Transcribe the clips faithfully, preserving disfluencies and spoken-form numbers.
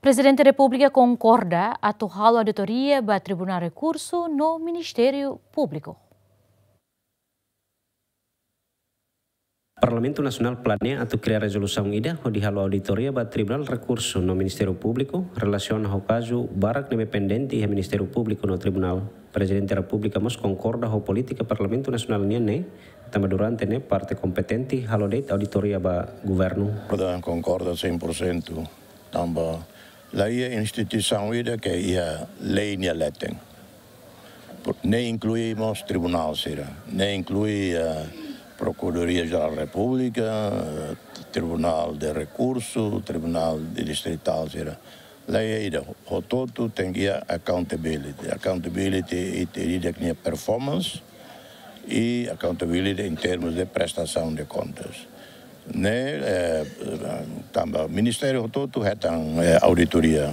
Prezidente Repúblika konkorda atu halo auditoria ba Tribunál Rekursu no Ministériu Públiku. Parlamentu Nasionál planeia atu kria rezolusaun ida hodi halo auditoria ba Tribunál Rekursu no Ministériu Públiku relasiona ho kazu barak ne'ebé pendente iha Ministériu Públiku no Tribunál. Prezidente Repúblika mós konkorda ho polítika Parlamentu Nasionál nian ne'e, tanba durante ne'e parte kompetente halo de'it auditoria ba governu. Konkorda, konkorda cem por cento. Tanba la iha instituisaun ida ke iha lei nia leten. Por-, ne'e inklui mós tribunál sira, ne'e inklui, eh, Procuradoria Geral da República, eh, Tribunál de Rekursu, Tribunál de Distritál sira. La iha ida, hotu-hotu tenke iha accountability. Accountability ita ida ke nia performance, i accountability em termos de prestação de contas. Ne'e, eh, tanba ministériu hotu-hotu hetan, eh, auditoria.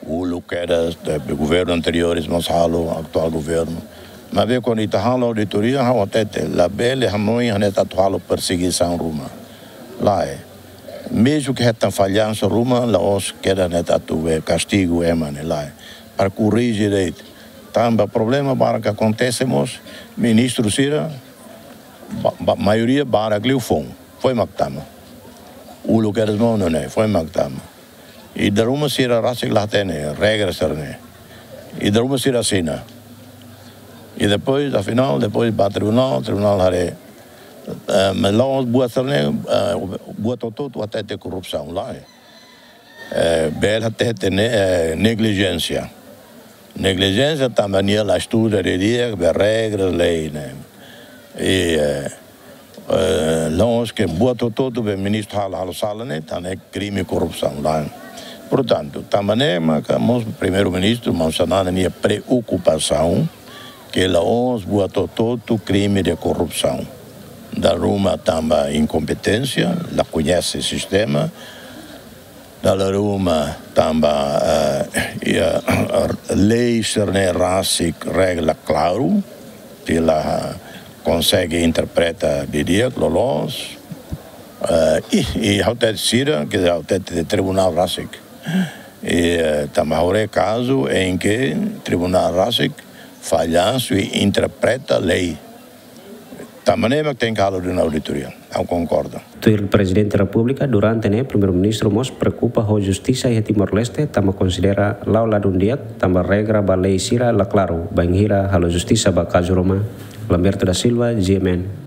Uluk kedas, eh, governu anteriores mós halo, atuál governu. Maibé kuandu ita halo auditoria, ha'u hatete, labele hanoin hanesan atu halo persegisaun ruma. Lae. Mezmu ke hetan fallansa ruma, la'ós kedas hanesan atu, eh, kastigu ema ne'e, lae. Para korrije de'it. Tanba problema barak akontese mós, ministru sira, ba-, ba-, maioria barak liu foun, foin mak tama. Uluk kedas mós nune'e, foin mak tama. I dala ruma sira rasik la hatene regra sira-ne'e. I dala ruma sira asina. I depois, afinál, depois ba tribunál, tribunál haree, eh, maibé la'ós buat sira-ne'e, eh, buat hotu-hotu hatete korrupsaun, lae. Eh, bele hatete ne'e, eh, neglijénsia. Neglijénsia tanba nia la estuda didi'ak ba regras lei ne'e. I, eh, eh, la'ós ke buat hotu-hotu be ministru halo, halo sala ne'e, entaun ne'e krime korrupsaun, lae. Portantu, tanba ne'e maka mós Primeiru-Ministru, maun Xanana nia preokupasaun, ke la'ós buat hotu-hotu krime de korrupsaun. Dala ruma tanba inkompeténsia, la koñese sistema, dala ruma tanba, eh, iha lei sira-ne'e rasik regra klaru, ita la konsege interpreta didi'ak, loloos. Eh, i, i ha'u hatete sira, ke ha'u hatete tribunál rasik. I, eh, tanba ha'u haree kazu em que tribunál rasik fallansu i interpreta lei. Tanba ne'e mak tenke halo duni auditoria. Ha'u konkorda. Tuir Prezidente Repúblika, durante ne'e Primeiru-Ministru mós preokupa ho justisa iha Timor-Leste, tanba konsidera la'o ladún di'ak, tanba regra ba lei sira la klaru, bainhira halo justisa ba kazu ruma. Lamberto da Silva, G M N.